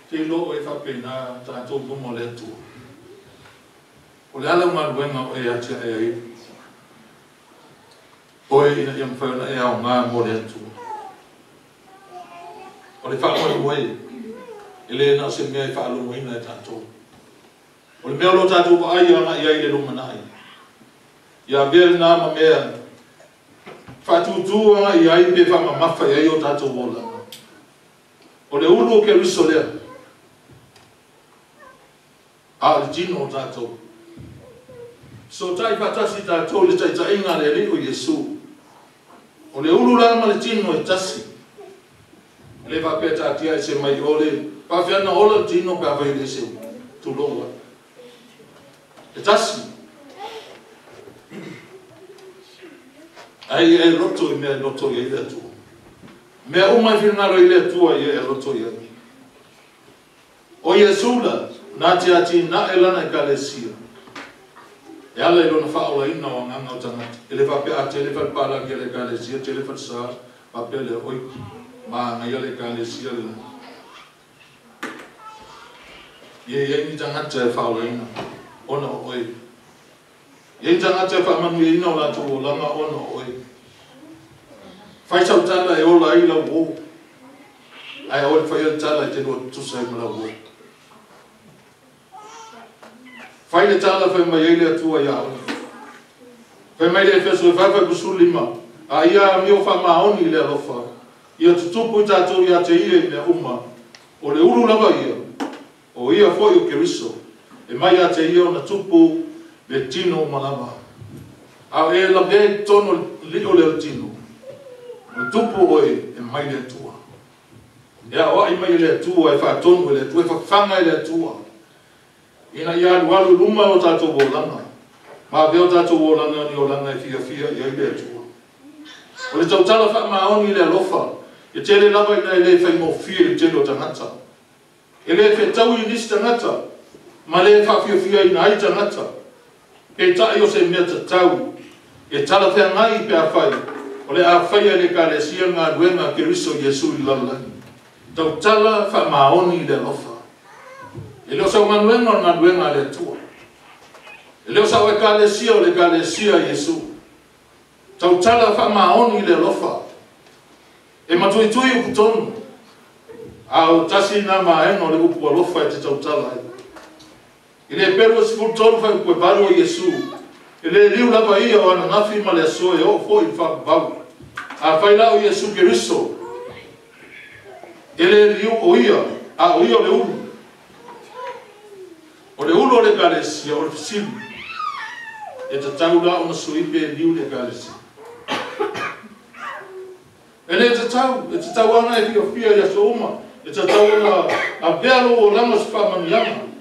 Te iloa oe faapena tatou i luma o le Atua. O le a lau galuega o e atiae ai oe ina ia mafai ona e aoga mo le Atua? O le faamoemoe, e le na o se mea e faalogoina e tatou. O le mea o lo o tatou vaai agai ai i le lumanai, ia avea lena ma mea faatūtū agai i ai pe faamamafa i ai o tatou olaga. O le ulu o Keriso lea, a o le tino o tatou. Fesootai faatasi tatou i le taitaiga a le Alii o Iesu. O le ulu la ma le tino e tasi. E le faapea taatia ese mai o le faafefea ona ola le tino pe afai e le ese ulu. Tulou ai. E tasi. Ai ia e loto i mea e loto i ai le Atua. Mea uma e finagalo ai le Atua ia e loto i ai. O Iesu la, na te atinae lana Ekalesia e ala i lona faaolaina o agaga o tagata. E le faapea a tele falepalagi a le Ekalesia, tele falesa, faapea lea, oi, manaia le Ekalesia le la. Ia i ai ni tagata e faaolaina ona o oe. Ia i ai tagata e faamanuiaina o latou olaga ona o oe. Fai sau tala e ola ai lau uo, ae aua le faia le tala e te lua tutusa ai ma lau uo. Fai le tala fai mai ai le Atua ia oe. Fai mai le Efeso e 4:15, a ia amio faamaoni i le alofa, ia tutupu i tatou ia te ia i mea uma, o le ulu lava ia, o ia foi o Keriso, e mai ia te ia ona tupu le tino uma lava. A o e lavea i totonu o le lio lea o le tino, o le tupu oe e mai le Atua. E aoai mai e le Atua, e faatonu e le Atua, e fafaga e le Atua, ina ia alualu i luma o tatou olaga, ma avea o tatou olaga ni olaga e fiafia i ai le Atua. O le tautala faamaoni i le alofa, e tele lava ina e le faigofie i le tele o tagata. E le fetaui i nisi tagata, ma le faafiafiaina ai tagata. Peitai o se mea tatau e talafeagai pe afai o le a faia e le Ekalesia le galuega a Keriso Iesu i le lalolagi. Tautala faamaoni i le alofa. E le o sau galuega o le galuega a le Atua. E le o sau Ekalesia o le Ekalesia a Iesu. Tautala faamaoni i le alofa. E matuitui upu tonu, a o tasi lena vaega o le upu alofa e te tautala ai. I le Peru e 13 faaiupu e 8 o Iesu, e le liu lava ia o ananafi ma le aso e oo foi i le faavavau. Afai la o Iesu Keriso, e le liu o ia, a o ia o le ulu. O le ulu o le Ekalesia, o le fesili, e tatau la ona sui pe liu le Ekalesia? E le tatau, e tatau lava ona e fiafia i aso uma, e tatau ona avea lou olaga o se faamanuiaga.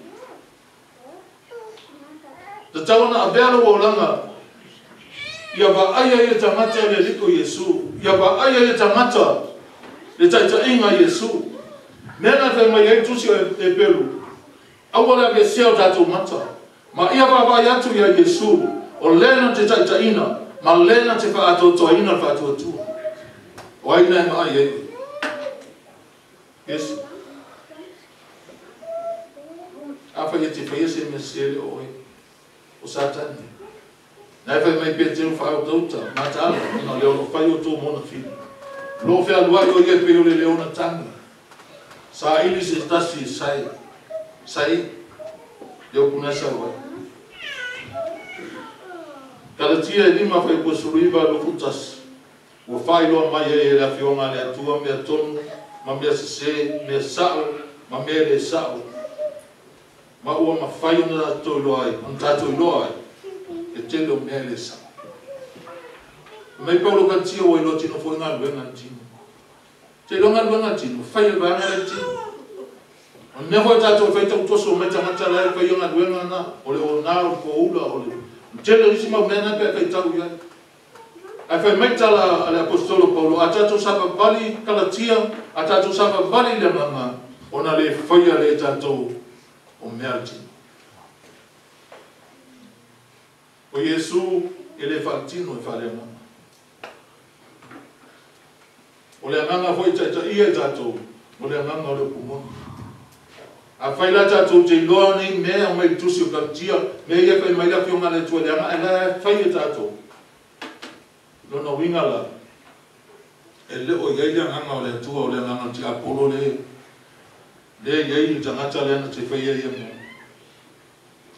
E tatau ona avea lou olaga ia vaaia ia tagata le Alii o Iesu, ia vaaia ia tagata le taitaiga a Iesu. Mea na fai mai ai le Tusi o Eperu, Aua le aveesea o tatou mata, ma ia vaavaai atu ia Iesu, o le na te taitaiina ma le na te faaatoatoaina le faatuatua. O ai na e vaai ai oe? Iesu. Afai e te faia se mea sese e le o oe, o Satani. Na e fai mai Peteru faautauta, mataala, ona o lea o lo o fai outou ma ona fili. O lo o fealuai o ia e pei o le leona tagi, saili se tasi e sae, sae, le upu na e sau ai. Kalatia e 5 fuaiupu 19 21, ua faailoa mai ai e le Afioga a le Atua mea tonu ma mea sese, mea sa'o ma mea le sa'o, ma ua mafai ona tatou iloa ai, ona tatou iloa ai le tele o mea e le sa'o. Fai mai Paulo Kalatia ua iloa tino foi galuega a le tino. Te iloa galuega a le tino, fai e le vaega lea le tino. O le mea foi a tatou e fai tautoso mai tagata la e faia galuega na, o le ona, o le poula, o le tele o isi mau mea na pe a faitau i ai. Ae fai mai tala a le Aposetolo Paulo, a tatou savavali Kalatia, a tatou savavali i le agaga, ona le faia lea e tatou o mea a le tino. O Iesu e le faaletino e faaleagaga. O le agaga foi e taitaia i tatou, o le agaga o le upu moni. Afai la tatou te iloa nei mea aumai i le tusi o Kalatia, mea ia e fai mai le Afioga a le Atua i le agaga, ae la e fai e tatou. Lona uiga la, e le o i ai le agaga o le Atua, o le agaga o le tiapolo lea e i ai le tagata lea na te faia ia mea.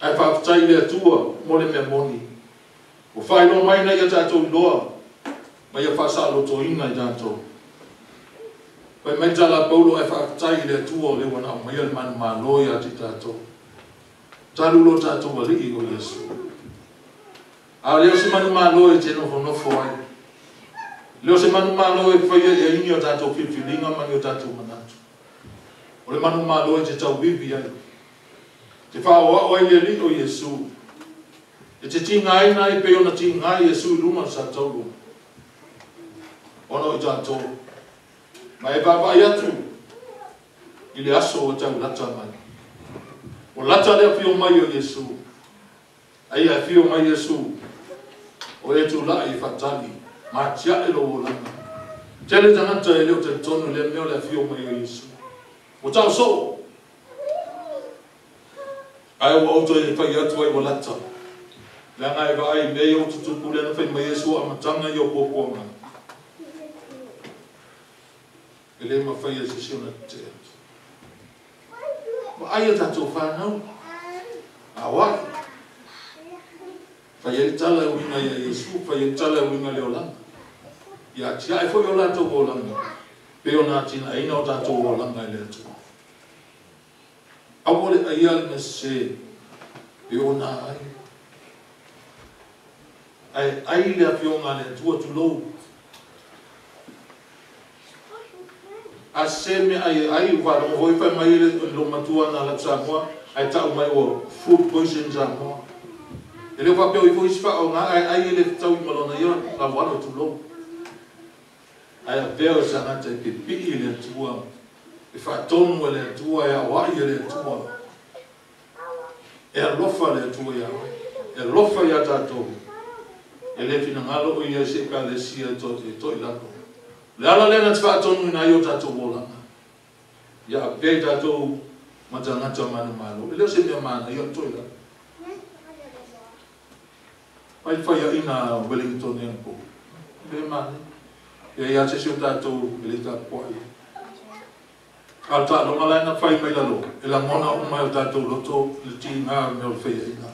Ae faafetai i le Atua mo le mea moni. Ua faailoa mai ina ia tatou iloa, ma ia faasaolotoina i tatou. Fai mai tala a Paulo, ae faafetai i le Atua o lea ua na aumaia le manumalo ia te tatou. Talu lo tatou alii o Iesu. A o lea o se manumalo e te nofonofo ai. Lea o se manumalo e faia i ai ni o tatou filifiliga ma ni o tatou manatu. O le manumalo e te tauivi ai. Te whaoao ai le alii o Iesu. E te tigaina ai pei ona tiga Iesu i luma o le satauro. Ona o i tatou. Ma e vaavaai atu i le aso ua tau lata mai. O lata le afio mai o Iesu. Ai afio mai Iesu. O e tula'i e faatali. Ma tia'e lou olaga. Tele tagata e le o talitonu le mea o le afio mai o Iesu. Ua tau soo. Ae ua ou toe fai atu ai ua lata. Leaga e vaai mea ia ua tutupu lea na fai mai Iesu amataga ia o puapuaga. E le mafai e se isi ona tetee atu. Vaai a tatou whanau. Aoai. Fai ai le tala e uiga ia Iesu, fai ai le tala e uiga le olaga. Ia atiae foi o latou olaga, pe ona atinaeina o tatou olaga e le Atua. Aua le aia le mea sese, pe ona ai. Ae ai le afioga a le Atua tulou. A se mea ai ai, ua faalogo foi fai mai le lo matua na lau Samoa, ae tau mai ua food poison Samoa. E le faapea o ifo isi whaonga, ae ai e le fetau i malona ia, lau tulou. Ae avea o sangata e pipii i le Atua, e whaatonu e le Atua, e awai e le Atua. E alofa le Atua ia oe, e alofa ia tatou. E le finagalo o ia se ekalesia e to i lalo. Le ala lea na te whaatonu ina i o tatou olaga. Ia avea i tatou matagata manumalo. E leo se mea mana ia to i lalo. Mai whai a ina Wellington e anpo. Le mane. Ia ia te si o tatou e le tapoa ia. A ta longa lai na whai mai lalo. E la ngona o mai o tatou loto le ti ngā mea o le whai ina.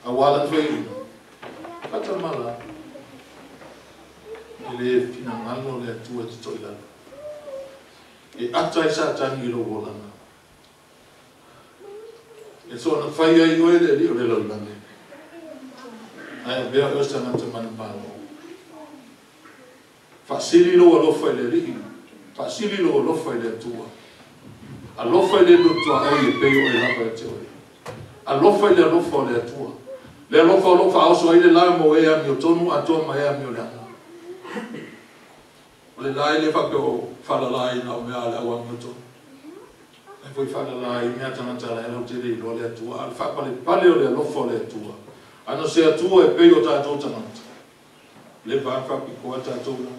A wala whai ina. Kata mala. E le finangalo le Atua te toi lalo. E ata i Satani i lo olanga. E so na whai ai oe le li o le laulage. Ae avea oe sangata manumalo. Faasili lou alofa i le alii. Faasili lou alofa i le Atua. Alofa i le lotoa ai e pei o e lava e te oe. Alofa i le alofa o le Atua. Le alofa o lou faaoso ai le la mo e ami o tonu atoa ma e ami o le aga. O le la e le faapea o falala ai na o mea a le au ami o tonu. Ai foi falala ai mea tagata la e lau te le iloa le Atua. A le faapalepale o le alofa o le Atua. Ano se Atua e pei o tatou tagata. Le vaa faapikoa tatou la.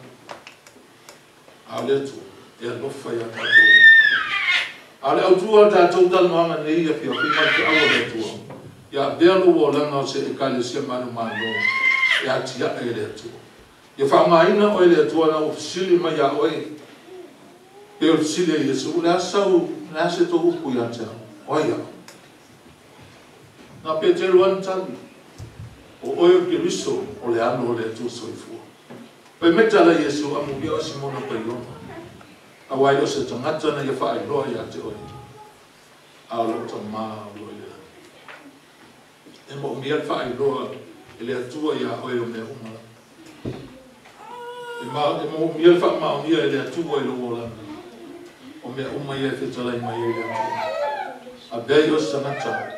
A o le Atua e alofa ia tatou. A o le autu o le tatou talanoaga nei afiafi ma le feau a le Atua, ia avea lou olaga o se Ekalesia manumalo e atia'e e le Atua. Ia faaaogaina oe e le Atua ina ua fesili mai ia oe, pei o le fesili a Iesu, o le a sau, o le a se tou upu ia te au? O ai au? Na Peteru lava na tali, o oe o le Keriso, o le Alo o le Atua soifua. Fai mai tala a Iesu, amuia oe Simona Paiona, aua e le o se tagata na ia faailoa ia te oe, a o lou Tamā o lo o i le lagi. E moomia le faailoa e le Atua ia oe o mea uma lava. E moomia le faamaonia e le Atua i lou olaga o mea uma ia e fetalai mai ai le Atua. Avea ia o se tagata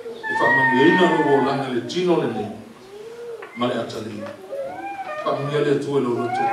e faamanuiaina lou olaga i le tino lenei ma le atalii. Faamanuia le Atua i lou loto.